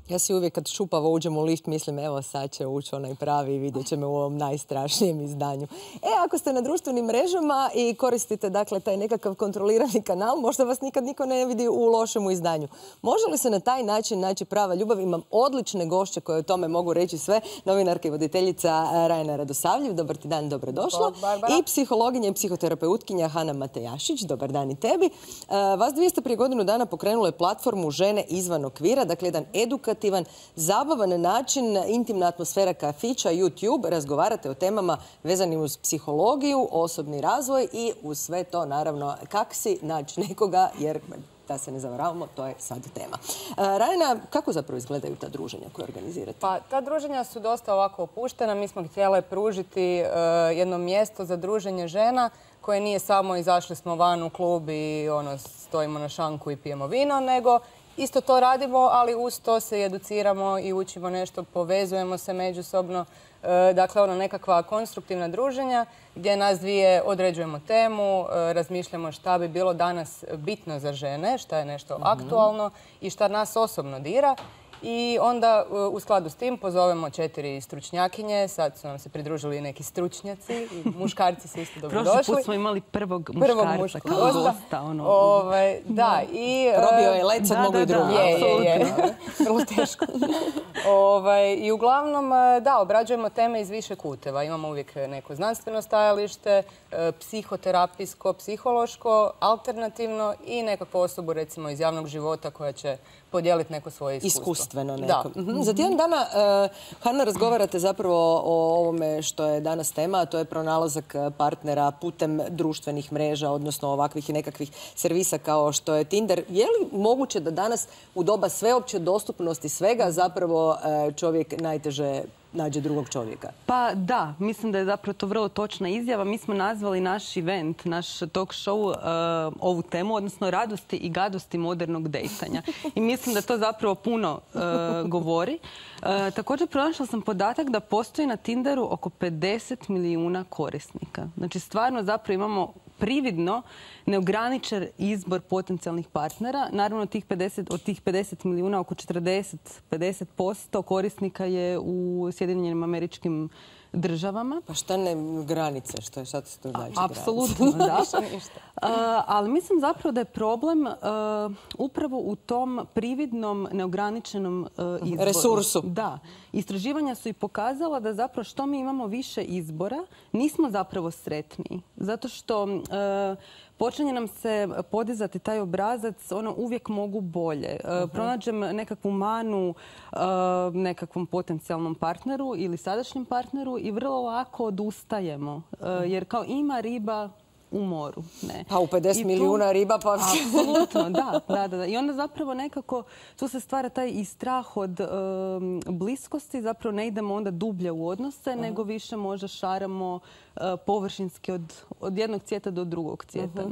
Ja si uvijek kad šupavo uđem u lift mislim evo sad će ući onaj pravi i vidjet će me u ovom najstrašnijem izdanju. Ako ste na društvenim mrežama i koristite dakle taj nekakav kontrolirani kanal, možda vas nikad niko ne vidi u lošemu izdanju. Može li se na taj način naći prava ljubav? Imam odlične gošće koje o tome mogu reći sve. Novinarka i voditeljica Rajana Radosavljev. Dobar ti dan, dobrodošla. I psihologinja i psihoterapeutkinja Hana Matejašić. Dobar dan i tebi. Vas dvije ste prije godinu dana pokrenule platformu Žene izvan okvira, dakle jedan edukativan, zabavan način, intimna atmosfera kafića, YouTube, razgovarate o temama vezanim uz psihologiju, osobni razvoj i uz sve to naravno kako si naći nekoga, jer da se ne zavaravamo, to je sad tema. Rajana, kako zapravo izgledaju ta druženja koje organizirate? Pa ta druženja su dosta ovako opuštena. Mi smo htjeli pružiti jedno mjesto za druženje žena koje nije samo izašli smo van u klub i stojimo na šanku i pijemo vino, nego isto to radimo, ali uz to se educiramo i učimo nešto, povezujemo se međusobno. Dakle, nekakva konstruktivna druženja gdje nas dvije određujemo temu, razmišljamo šta bi bilo danas bitno za žene, šta je nešto aktualno i šta nas osobno dira. I onda u skladu s tim pozovemo 4 stručnjakinje, sad su nam se pridružili neki stručnjaci i muškarci su isto dobrodošli. Prošli put smo imali prvog muškarca kao gosta. Da, i... Probio je led, sad mogu i drugi. Je. Vrlo teško. I uglavnom, da, obrađujemo teme iz više kuteva. Imamo uvijek neko znanstveno stajalište, psihoterapijsko, psihološko, alternativno i nekakvu osobu, recimo, iz javnog života koja će podijeliti neko svoje iskustvo. Iskustveno neko. Za tjedan dana, Hana, razgovarate zapravo o ovome što je danas tema, a to je pronalazak partnera putem društvenih mreža, odnosno ovakvih i nekakvih servisa kao što je Tinder. Je li moguće da danas u doba sveopće dostupnosti svega zapravo čovjek najteže nađe drugog čovjeka? Pa da, mislim da je zapravo to vrlo točna izjava. Mi smo nazvali naš event, naš talk show ovu temu, odnosno radosti i gadosti modernog dejtanja. I mislim da to zapravo puno govori. Također pronašla sam podatak da postoji na Tinderu oko 50 milijuna korisnika. Znači stvarno zapravo imamo prividno neograničen izbor potencijalnih partnera. Naravno, od tih 50 milijuna, oko 40-50% korisnika je u Sjedinjenim Američkim Državama. Pa šta ne granice? Šta to znači? Apsolutno, da. Ali mislim zapravo da je problem upravo u tom prividnom, neograničenom izboru. Resursu. Da. Istraživanja su i pokazala da zapravo što mi imamo više izbora, nismo zapravo sretniji. Zato što počinje nam se podizati taj obrazac, uvijek mogu bolje. Pronađem nekakvu manu nekakvom potencijalnom partneru ili sadašnjem partneru i vrlo lako odustajemo. Jer kao ima riba u moru. Pa u 50 milijuna riba pa... Apsolutno, da. I onda zapravo nekako tu se stvara taj i strah od bliskosti. Zapravo ne idemo onda dublje u odnose, nego više možda šaramo površinski od jednog cvijeta do drugog cvijeta.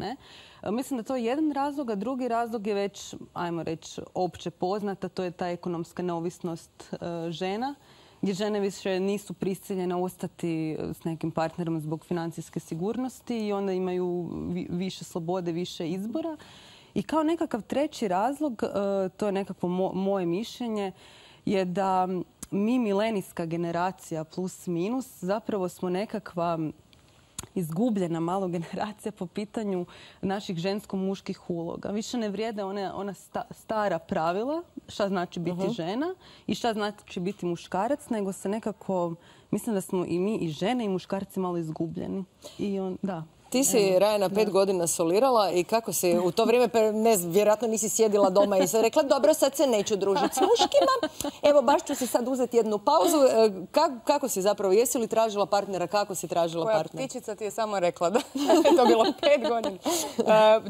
Mislim da to je jedan razlog, a drugi razlog je već, ajmo reći, opće poznata. To je ta ekonomska neovisnost žena, gdje žene više nisu prisiljene ostati s nekim partnerom zbog financijske sigurnosti i onda imaju više slobode, više izbora. I kao nekakav treći razlog, to je nekakvo moje mišljenje, je da mi milenijska generacija plus minus zapravo smo nekakva izgubljena malo generacija po pitanju naših žensko-muških uloga. Više ne vrijede ona stara pravila šta znači biti žena i šta znači biti muškarac, nego se nekako, mislim da smo i mi i žene i muškarci malo izgubljeni. Ti si, Rajana, 5 godina solirala i kako si u to vrijeme, vjerojatno nisi sjedila doma i sad rekla, dobro, sad se neću družiti s muškima, evo baš ću si sad uzeti jednu pauzu. Kako si zapravo, jesi li tražila partnera, kako si tražila partnera? Koja ptičica ti je samo rekla da je to bilo 5 godina.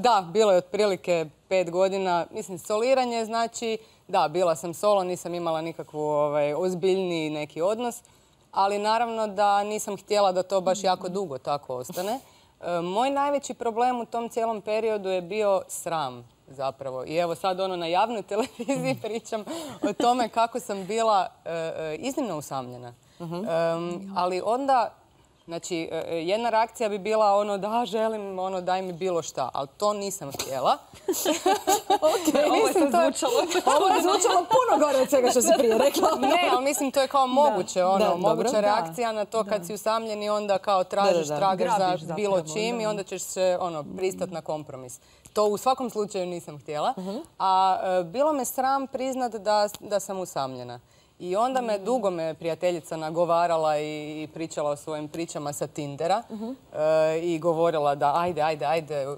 Da, bilo je otprilike 5 godina. Mislim, soliranje znači, da, bila sam solo, nisam imala nikakvu ozbiljniji neki odnos, ali naravno da nisam htjela da to baš jako dugo tako ostane. Moj najveći problem u tom cijelom periodu je bio sram zapravo. I evo sad na javnoj televiziji pričam o tome kako sam bila iznimno usamljena. Ali onda Znači, jedna reakcija bi bila ono da želim, ono daj mi bilo šta, ali to nisam htjela. Ovo je sad zvučalo. Ovo je zvučalo puno gore od svega što si prije rekla. Ne, ali mislim to je kao moguće, moguća reakcija na to kad si usamljen i onda kao tragaš za bilo čim i onda ćeš se pristat na kompromis. To u svakom slučaju nisam htjela. A bilo me sram priznat da sam usamljena. I onda dugo me prijateljica nagovarala i pričala o svojim pričama sa Tindera i govorila da ajde,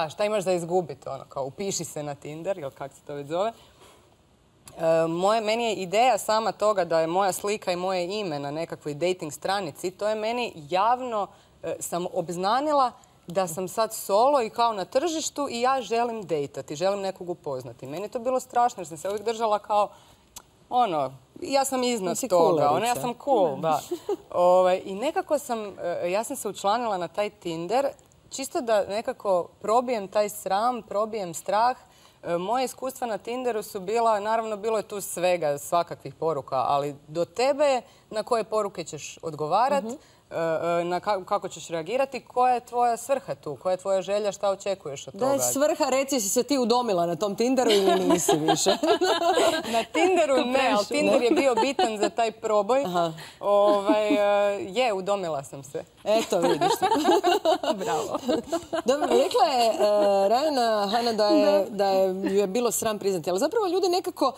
šta imaš za izgubiti? Kao upiši se na Tinder, ili kako se to već zove. Meni je ideja sama toga da je moja slika i moje ime na nekakvoj dating stranici, to je meni javno sam obznanila da sam sad solo i kao na tržištu i ja želim dejtati, želim nekog upoznati. Meni je to bilo strašno jer sam se uvijek držala kao ja sam iznad toga, ja sam cool, da. I nekako ja sam se učlanila na taj Tinder, čisto da nekako probijem taj sram, probijem strah. Moje iskustva na Tinderu su bila, naravno bilo je tu svega, svakakvih poruka, ali do tebe na koje poruke ćeš odgovarati, kako ćeš reagirati, koja je tvoja svrha tu, koja je tvoja želja, šta očekuješ od toga. Da je svrha, reci si se ti udomila na tom Tinderu ili nisi više? Na Tinderu ne, ali Tinder je bio bitan za taj proboj. Udomila sam se. Eto, vidiš. Bravo. Dobro, rekla je Rajana Hana da je bilo sram priznati, ali zapravo ljudi nekako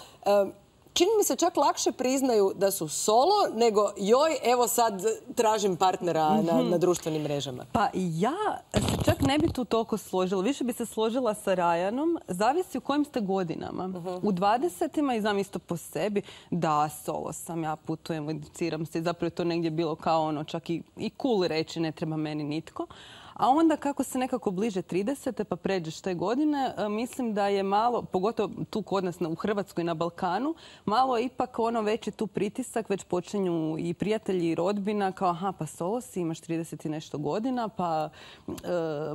čini mi se čak lakše priznaju da su solo nego joj, evo sad tražim partnera na društvenim mrežama. Pa ja se čak ne bi tu toliko složila. Više bi se složila sa Rajanom. Zavisi u kojim ste godinama. U 20-ima i znam isto po sebi da solo sam, ja putujem, educiram se. Zapravo je to negdje bilo kao čak i cool reći ne treba meni nitko. A onda kako se nekako bliže 30. pa pređeš te godine, mislim da je malo, pogotovo tu kod nas u Hrvatskoj na Balkanu, malo ipak veći tu pritisak, već počinju i prijatelji i rodbina kao aha pa solo si, imaš 30 i nešto godina, pa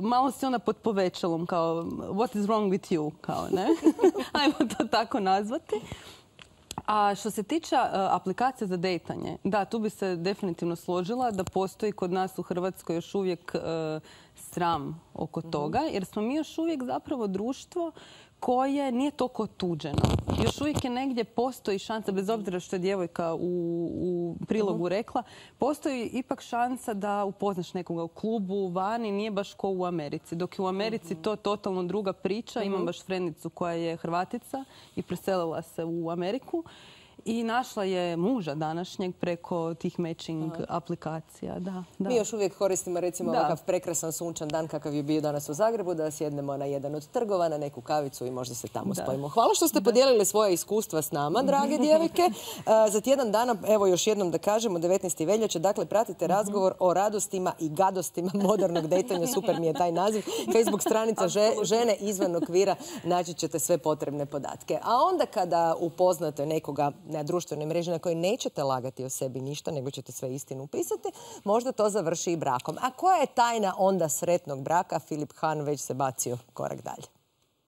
malo si onda pod povećalom kao what is wrong with you, kao ne, ajmo to tako nazvati. A što se tiče aplikacija za dejtanje, da, tu bi se definitivno složila da postoji kod nas u Hrvatskoj još uvijek sram oko toga, jer smo mi još uvijek zapravo društvo koje nije toliko otuđeno. Još uvijek je negdje postoji šansa, bez obzira što je djevojka u prilogu rekla, postoji ipak šansa da upoznaš nekoga u klubu, vani, nije baš ko u Americi. Dok je u Americi to totalno druga priča. Imam baš frendicu koja je Hrvatica i preselila se u Ameriku. I našla je muža današnjeg preko tih matching aplikacija. Da. Mi još uvijek koristimo recimo ovakav prekrasan sunčan dan kakav je bio danas u Zagrebu, da sjednemo na jedan od trgova, na neku kavicu i možda se tamo spojimo. Hvala što ste podijelili svoje iskustva s nama, drage djevojke. Za tjedan dana, evo još jednom da kažemo, 19. veljače, dakle pratite razgovor o radostima i gadostima modernog dejtanja. Super mi je taj naziv. Facebook stranica Žene izvan okvira, naći ćete sve potrebne podatke. A onda kada upoznate nekoga na društvenoj mreži na kojoj nećete lagati o sebi ništa, nego ćete sve istinu upisati, možda to završi i brakom. A koja je tajna onda sretnog braka? Filip Han već se bacio korak dalje.